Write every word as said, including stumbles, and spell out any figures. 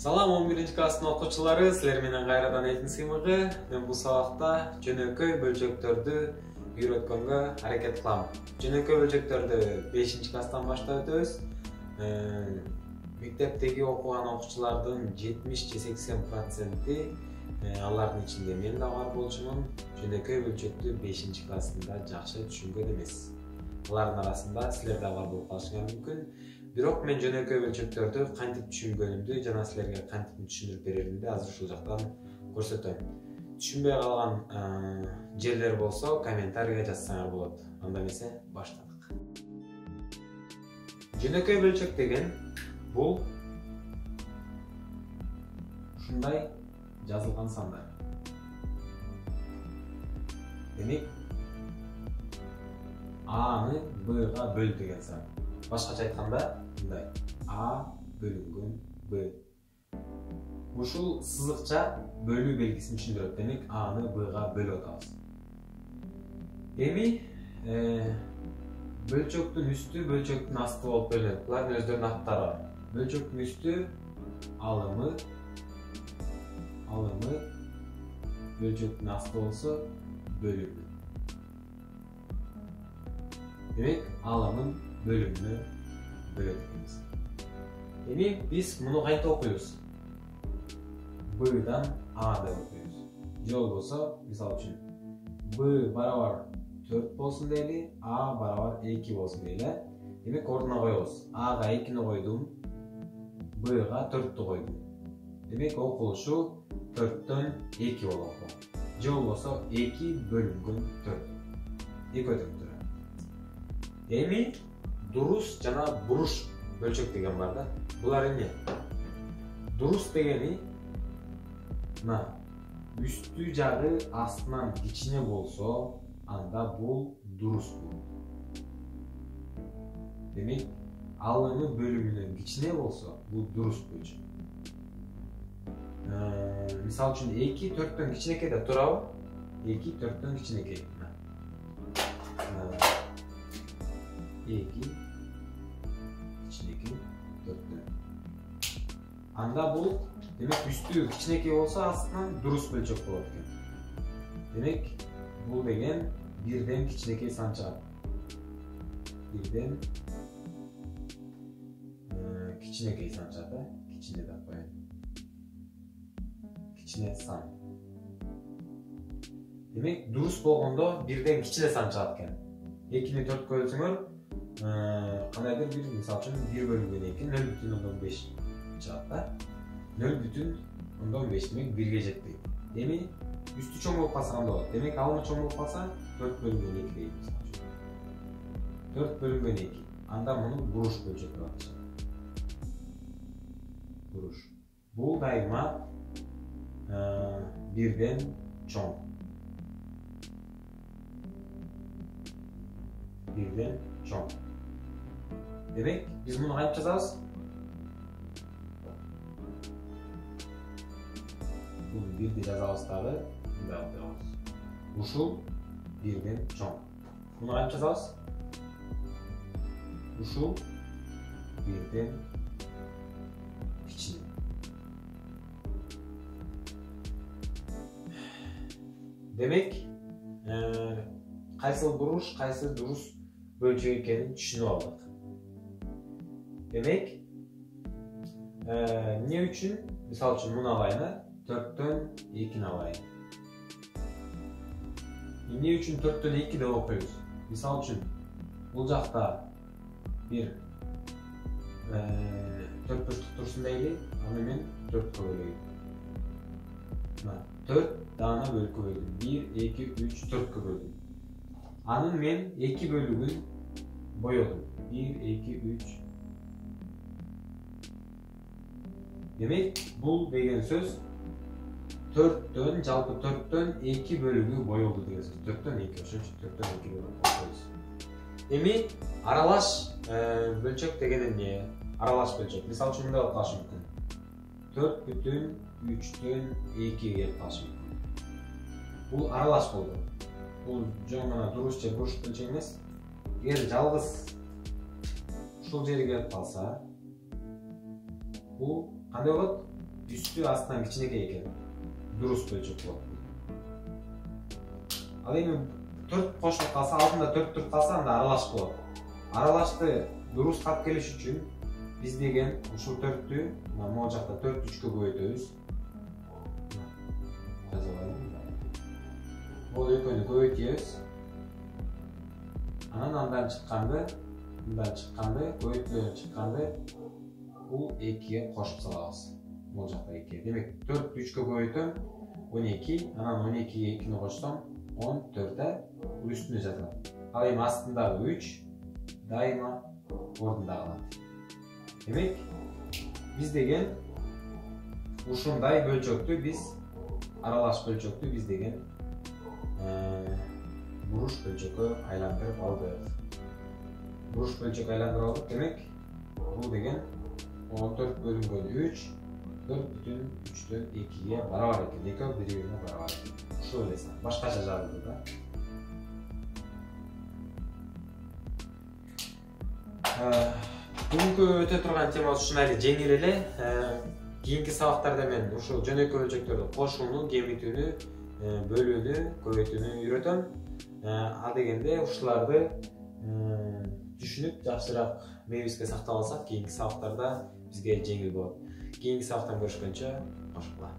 Салам он биринчи класстын окуучулары, силер менен кайрадан элдин сыймыгы. Мен бул сабакта жөнөкөй бөлчөктөрдү үйрөткөнгө аракет кылам. Жөнөкөй бөлчөктөрдү бешинчи класстан баштап өтөбүз. Мектептеги окуган окуучулардын жетимиш же сексен проценти алардын ичинде мен да бар болчумун. Жөнөкөй бөлчөктү бешинчи классында жакшы түшүнгөн эмес. Алардын арасында силер да бар болуп калышыңар мүмкүн. Бирок мен жөнөкөй бөлчөктөрдү кантип түшүнгөнүмдү жана силерге кантип түшүндүрүп береримди азыр ушул жактан көрсөтөм. Түшүнбөй калган жерлер болсо комментарийге жазсаңар болот. Анда эмесе баштадык. Жөнөкөй бөлчөк деген бул ушундай жазылган сандар. Демек Аны Бга бөл деген сан. Башкача айтканда, мындай: А бөлүнгөн Б. Ушул сызыкча бөлүү белгисин түшүндүрөт. Демек Аны Бга бөлүп атабыз. Эми бөлчөктүн үстү, бөлчөктүн асты болуп бөлүнөт. Булардын өздөрүнүн аттары бар. Бөлчөктүн үстү алымы, алымы, бөлчөктүн асты болсо бөлүмү. Демек алымын бөлүмүнө бөлөт экенбиз. Эми биз муну кантип окуйбуз? Б'дан А деп окуйбуз. Же болбосо, мисалы үчүн Б барабар төрт болсун дейли, А барабар эки болсун дейли. Демек ордуна коебуз. Ага экини койдум, Бга төрттү койдум. Демек окулушу төрттөн эки болот. Же болбосо эки бөлүнгөн төрт. эки өтүп турат. Эми дурус жана буруш бөлчөк деген бар да. Булар эмне? Дурус дегени мына үстү жагы астынан кичине болсо, анда бул дурус болот. Демек алымы бөлүмүнөн кичине болсо, бул дурус бөлчөк. Мисалы үчүн эки төрттөн кичинекей деп турабы? эки төрттөн кичинекей. эки кичинекей төрттөн. Анда бул демек үстү кичинекей болсо, астынан дурус бөлчөк болот экен. Демек бул деген бирден кичинекей сан чыгат. Бирден кичинекей сан чыгат, э? Кичине деп коеюн. Кичине сан. Демек дурус болгондо бирден кичине сан чыгат экен. экини төрткө бөлсөңөр, кандайдыр бир, мисалы үчүн бир бөлүнгөн эки нөл бүтүн ондон беш чыгат да. нөл бүтүн ондон беш демек бирге жетпейт. Эми үстү чоң болуп калса кандай болот? Демек алымы чоң болуп калса төрт бөлүнгөн эки дейт мисалы үчүн. төрт бөлүнгөн эки. Анда муну буруш бөлчөк деп аташат. Буруш. Бул дайыма бирден чоң. Бирден чоң. Демек, биз муну кантип жазабыз? Бул бирди жазабыз дагы, мындай кылып жазабыз. Ушул бирден чоң. Муну кантип жазабыз? Ушул бирден кичине. Демек, кайсы буруш, кайсы дурус бөлчөк экенин түшүнүп алдык. Демек, эмне үчүн, мисалы үчүн муну алайын, төрттөн экини алайын. Эмне үчүн төрттөн эки деп окуйбуз? Мисалы үчүн, бул жакта бир төрт бурчтук турсун дейли, аны мен төрткө бөлөйүн. Мына, төрт даана бөлүккө бөлдүм. бир, эки, үч, төрткө бөлдүм. Анын мен эки бөлүгүн боёдум. бир, эки, үч. Демек, бул деген сөз төрттөн, жалпы төрттөн эки бөлүгү боёлду деген сөз. төрттөн эки, ошон үчүн төрттөн эки бөлүп коебуз. Эми аралаш бөлчөк деген эмне? Аралаш бөлчөк. Мисалы үчүн мындай болуп калышы мүмкүн. төрт бүтүн үчтөн эки келип калышы мүмкүн. Бул аралаш болду. Бул жөн гана дурус же буруш бөлчөк эмес. Эгер жалгыз ушул жери келип калса, бул кандай болот? үстү астынан кичинекей экен. Дурус бөлчөк болот. Ал эми төрт кошулуп калса, алдында төрт туруп калса, анда аралаш болот. Аралашты дурус кап келиш үчүн биз деген ушул төрттү могу жакта төрт үчкө көбөйтөбүз. Бул экөөнү көбөйтөбүз. Анан андан чыкканды, мындан чыкканды, көбөйтүүлөрдөн чыкканды бул экиге кошуп салабыз. Бул жакта эки. Демек төрт үчкө көбөйтөм он эки, анан он экиге экини кошсом он төрт бул үстүнө жазылат. Ал эми астындагы үч дайыма ордунда калат. Демек биз деген ушундай бөлчөктү биз аралаш бөлчөктү биз деген буруш бөлчөккө айландырып алдык. Буруш бөлчөккө айландырып алдык. Демек бул деген он төрт бөлүнгөн үч төрт бүтүн үчтөн экиге барабар экен. Экөө бири-бирине барабар. Ушул эле. Башкача жазылды да. Бүгүнкү өтө турган темабыз ушундай эле жеңил эле. Кийинки сабактарда мен ушул жөнөкөй бөлчөктөрдү кошууну, кемитүүнү, бөлүүнү, көбөйтүүнү үйрөтөм. А дегенде ушуларды түшүнүп, жакшыраак мээбизге сактап алсак, кийинки сабактарда бизге жеңил болот. Кийинки сабактан көрүшкөнчө, кош була.